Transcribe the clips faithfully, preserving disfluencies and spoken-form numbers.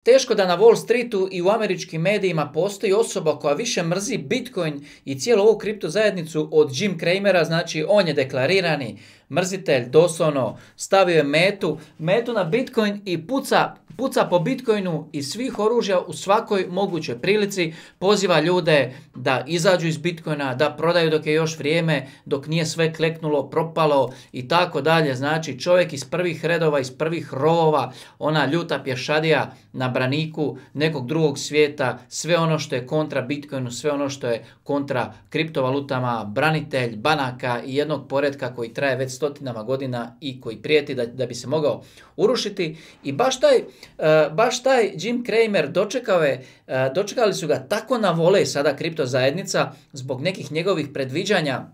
Teško da na Wall Streetu i u američkim medijima postoji osoba koja više mrzi Bitcoin i cijelu ovu kripto zajednicu od Jim Cramera, znači on je deklarirani mrzitelj, doslovno stavio je metu, metu na Bitcoin i puca, puca po Bitcoinu iz svih oružja u svakoj mogućoj prilici, poziva ljude da izađu iz Bitcoina, da prodaju dok je još vrijeme, dok nije sve kleknulo, propalo i tako dalje. Znači čovjek iz prvih redova, iz prvih rovova, ona ljuta pješadija na braniku nekog drugog svijeta, sve ono što je kontra Bitcoinu, sve ono što je kontra kriptovalutama, branitelj banaka i jednog poretka koji traje već stotinama godina i koji prijeti da, da bi se mogao urušiti. I baš taj, uh, baš taj Jim Cramer dočekao je, uh, dočekali su ga tako na volej sada kripto zajednica zbog nekih njegovih predviđanja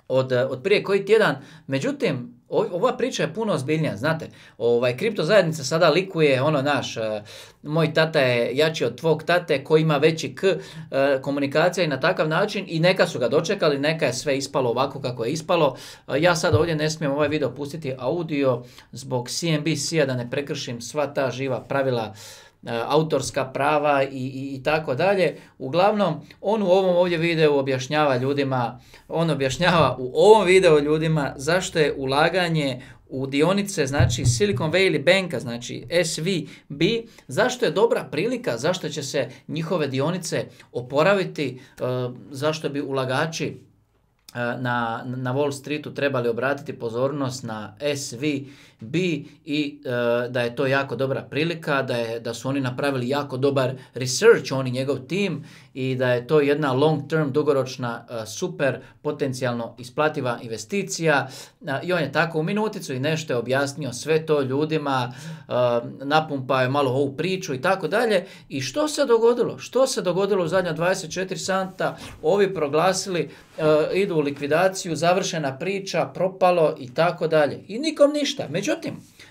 od, od prije koji tjedan. Međutim, ova priča je puno ozbiljnija, znate, ovaj, kripto zajednica sada likuje, ono naš, uh, moj tata je jači od tvog tate, koji ima veći k, uh, komunikacija i na takav način i neka su ga dočekali, neka je sve ispalo ovako kako je ispalo. Uh, ja sad ovdje ne smijem ovaj video pustiti audio zbog C N B C-a da ne prekršim sva ta živa pravila, autorska prava i, i, i tako dalje. Uglavnom, on u ovom ovdje videu objašnjava ljudima, on objašnjava u ovom videu ljudima zašto je ulaganje u dionice, znači Silicon Valley Banka, znači S V B, zašto je dobra prilika, zašto će se njihove dionice oporaviti, zašto bi ulagači Na, na Wall Streetu trebali obratiti pozornost na S V B i e, da je to jako dobra prilika, da, je, da su oni napravili jako dobar research, oni njegov tim, i da je to jedna long term, dugoročna, e, super potencijalno isplativa investicija. E, I on je tako u minuticu i nešto je objasnio sve to ljudima, e, napumpao je malo ovu priču i tako dalje. I što se dogodilo? Što se dogodilo u zadnja dvadeset četiri sata? Ovi proglasili, e, idu u likvidaciju, završena priča, propalo i tako dalje. I nikom ništa. Međutim,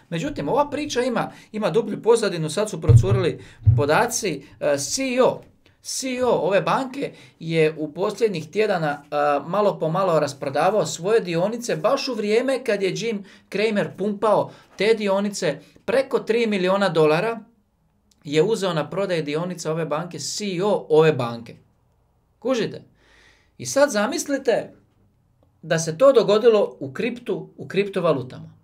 međutim ova priča ima, ima dublju pozadinu, sad su procurili podaci. C E O, C E O ove banke je u posljednjih tjedana uh, malo po malo rasprodavao svoje dionice baš u vrijeme kad je Jim Cramer pumpao te dionice. Preko tri milijuna dolara je uzeo na prodaj dionica ove banke, C E O ove banke. Kužite? I sad zamislite da se to dogodilo u kriptu, u kriptovalutama.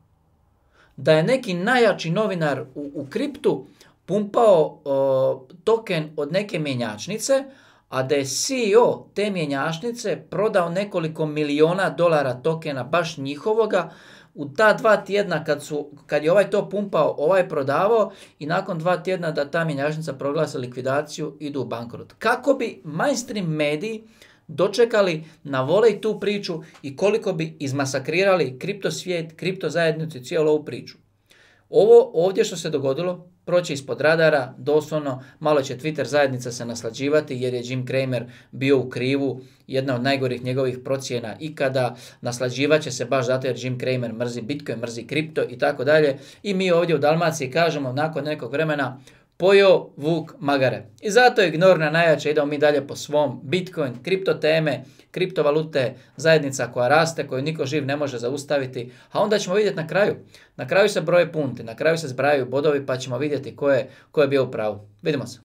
Da je neki najjači novinar u, u kriptu pumpao o, token od neke mjenjačnice, a da je C E O te mjenjačnice prodao nekoliko miliona dolara tokena baš njihovoga u ta dva tjedna kad, su, kad je ovaj to pumpao, ovaj prodavao i nakon dva tjedna da ta mjenjačnica proglasa likvidaciju, idu u bankrot. Kako bi mainstream mediji dočekali na volej tu priču i koliko bi izmasakrirali kripto svijet, kripto zajednicu i cijelu ovu priču. Ovo ovdje što se dogodilo proći ispod radara, doslovno malo će Twitter zajednica se naslađivati jer je Jim Cramer bio u krivu, jedna od najgorih njegovih procjena ikada, naslađivat će se baš zato jer Jim Cramer mrzi Bitcoin, mrzi kripto i tako dalje. I mi ovdje u Dalmaciji kažemo nakon nekog vremena pojeo vuk magare. I zato je ignorna najjača, idemo mi dalje po svom. Bitcoin, kripto teme, kriptovalute, zajednica koja raste, koju niko živ ne može zaustaviti. A onda ćemo vidjeti na kraju. Na kraju se broje punti, na kraju se zbrajaju bodovi pa ćemo vidjeti ko je, ko je bio u pravu. Vidimo se.